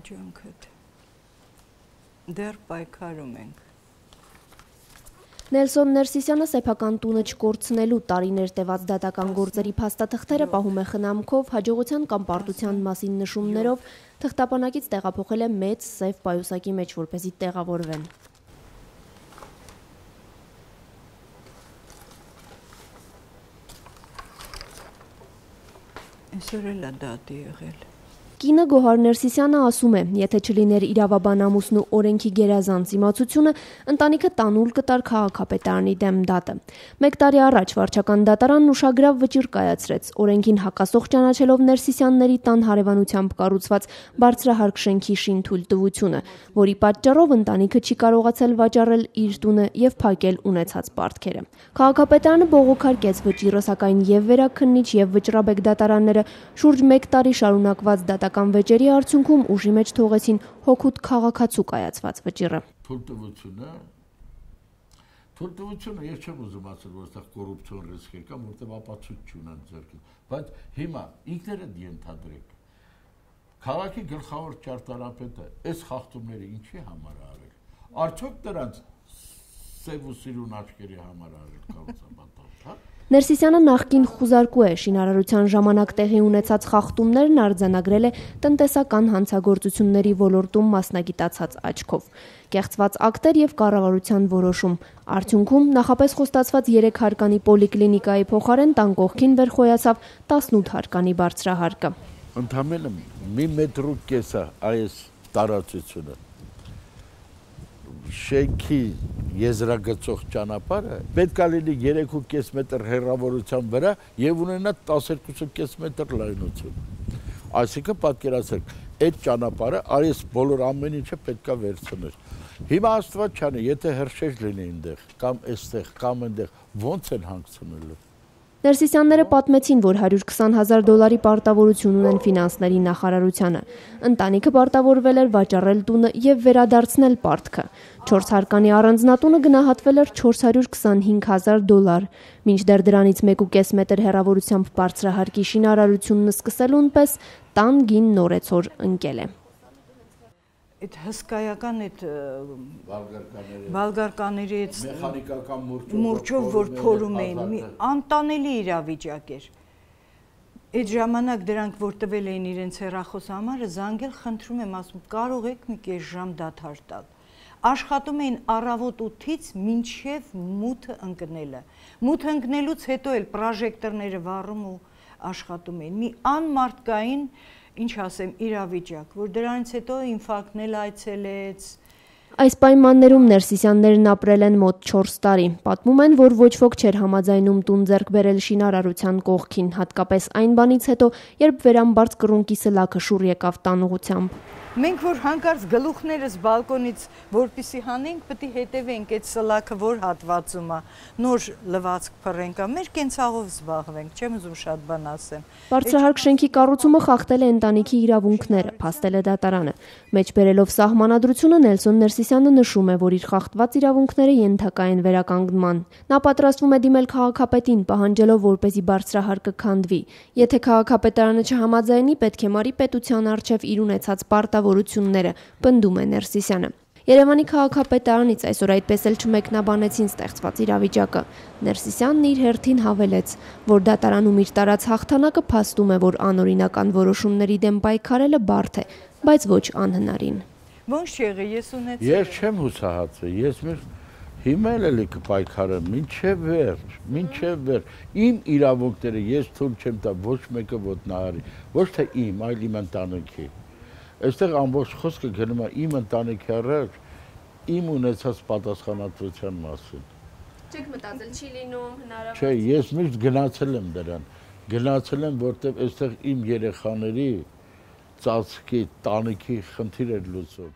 ջանքդ։ Դեռ պայքարում ենք։ Նելսոն Ներսիսյանը սեփական տունը չկորցնելու տարիներ տևած դատական գործերի փաստաթղթերը պահում է խնամքով, հաջողության կամ պարտության մասին նշումներով, թղթապանակից տեղափոխել է մեծ սև պայուսակի մեջ, որպեսզի տեղավորվեն։ Այսօր էլ է դատի եղել։ Կինը Գոհար Ներսիսյանը ասում է, եթե չլիներ իրավաբան ամուսնու օրենքի գերազանց իմացությունը, ընտանիքը տանուլ կտար քաղաքապետարանի դեմ դատը։ 1 տարի առաջ վարչական դատարանն ուշագրավ վճիռ կայացրեց, օրենքին հակասող ճանաչելով Ներսիսյանների տան հարևանությամբ կառուցված բարձրահարկ շենքի շինթույլտվությունը, որի պատճառով ընտանիքը չի կարողացել վաճառել իր տունը եւ փակել ունեցած պարտքերը։ Քաղաքապետարանը բողոքարկեց վճիռը, սակայն եւ վերաքննիչ եւ վճռաբեկ դատարանները շուրջ 1 տարի շարունակված դատական վեճերի արդյունքում ուժի մեջ թողեցին հօգուտ քաղաքացու կայացված վճիռը։ Թույլտվությունը ես չեմ ուզում ասել, որ այստեղ կոռուպցիոն ռիսկ կա, որտեղ ապացույց չունեն ձեռքին, բայց հիմա ինքներդ ենթադրեք։ Քաղաքի գլխավոր ճարտարապետը այս խախտումները ինչի համար է արել։ Արդյոք դրանց սև ու սիրուն աչքերի համար արել կառուցապատող, հա։ Ներսիսյանը նախկին խուզարկու է, շինարարության ժամանակ տեղի ունեցած խախտումներն արձանագրել է տնտեսական հանցագործությունների ոլորտում մասնագիտացած աչքով։ Կեղծված ակտեր եւ կառավարության որոշում։ Արդյունքում նախապես խոստացված 3 հարկանի պոլիկլինիկայի փոխարեն տան կողքին վերխոյացավ 18 հարկանի բարձրահարկը։ Ընդամենը 1,5 մետրու կեսա այս տարածությունը շենքի եզրագծող ճանապարհը պետք է լինի 3,5 մետր հեռավորության վրա եւ ունենա 12,5 մետր լայնություն։ Այսինքն պատկերացրեք, այդ ճանապարհը այս բոլոր ամեն ինչը պետք է վերցնել։ Հիմա աստված չանի, եթե հրշեջ լինի այնտեղ, կամ այստեղ, կամ այնտեղ, ո՞նց են հանգցնելու։ Ներսիսյանները պատմեցին, որ $120,000 պարտավորություն ունեն ֆինանսների նախարարությանը։ Ընտանիքը պարտավորվել էր վաճառել տունը եւ վերադարձնել պարտքը։ 4 հարկանի առանձնատունը գնահատվել էր $425,000, մինչդեռ դրանից 1,5 մետր հեռավորությամբ բարձրահարկի շինարարությունն սկսելուն պես տան գին նորեցօր ընկել է։ Այդ հսկայական այդ բալգարկաների մեխանիկական մուրճով որ փորում էին, անտանելի իրավիճակ էր։ Այդ ժամանակ դրանք որ տվել էին իրենց հեռախոս համարը, զանգել խնդրում եմ, ասում կարող եք մի կես ժամ դադար տալ։ Աշխատում էին առավոտ 8-ից մինչև մութը ընկնելը։ Մութը ընկնելուց հետո էլ պրոժեկտորները վառում ու աշխատում էին։ Մի անմարդկային, ինչ ասեմ, իրավիճակ, որ դրանից հետո ինֆարկտն էլ այցելեց։ Այս պայմաններում Ներսիսյաններն ապրել են մոտ 4 տարի։ Պատմում են, որ ոչ ոք չէր համաձայնում տուն ձեռք բերել շինարարության կողքին, հատկապես այն բանից հետո, երբ վերամբարձ կռունկի սլաքը շուռ եկավ տան ուղղությամբ։ Մենք որ հանկարծ գլուխներս բալկոնից որպեսի հանենք, պետք է հետևենք այդ սլաքը որ հատվածում է, նոր լվացք փռենք, մեր կենցաղով զբաղվենք, չեմ ուզում շատ բան ասեմ։ Բարձրահարկ շենքի կառուցումը խախտել է ընտանիքի իրավունքները, փաստել է դատարանը։ Մեջբերելով սահմանադրությունը Նելսոն Ներսիսյանը նշում է, որ իր խախտված իրավունքները ենթակա են վերականգնման։ Նա պատրաստվում է դիմել քաղաքապետին, պահանջելով, որպեսզի բարձրահարկը քանդվի։ Եթե քաղաքապետարանը չհամաձայնի, պետք է մարի պետության առջև իր ունեցած պարտավորությունները, պնդում է Ներսիսյանը։ Երևանի քաղաքապետարանից այսօր այդպես էլ չմեկնաբանեցին ստեղծված իրավիճակը։ Ներսիսյանն իր հերթին հավելեց, որ դատարանում իր տարած հաղթանակը փաստում է, որ անօրինական որոշումների դեմ պայքարելը բարդ է, բայց ոչ անհնարին։ Ոնց եղի, ես ունեցել։ Ես չեմ հուսահատվել, ես հիմա էլ կպայքարեմ, մինչև վերջ։ Իմ իրավունքները ես թույլ չեմ տա ոչ մեկը ոտնահարի, ոչ թե իմ, այլ իմ ընտանիքի։ Այստեղ ամբողջ խոսքը գնում է իմ ընտանիքի առաջ, իմ ունեցած պատասխանատվության մասին։ Չեք մտածել, չի լինում հնարավոր։ Չէ, ես միշտ գնացել եմ դրան, որտեղ այստեղ իմ երեխաների ծածկի, տանիքի խնդիր էր լուծում։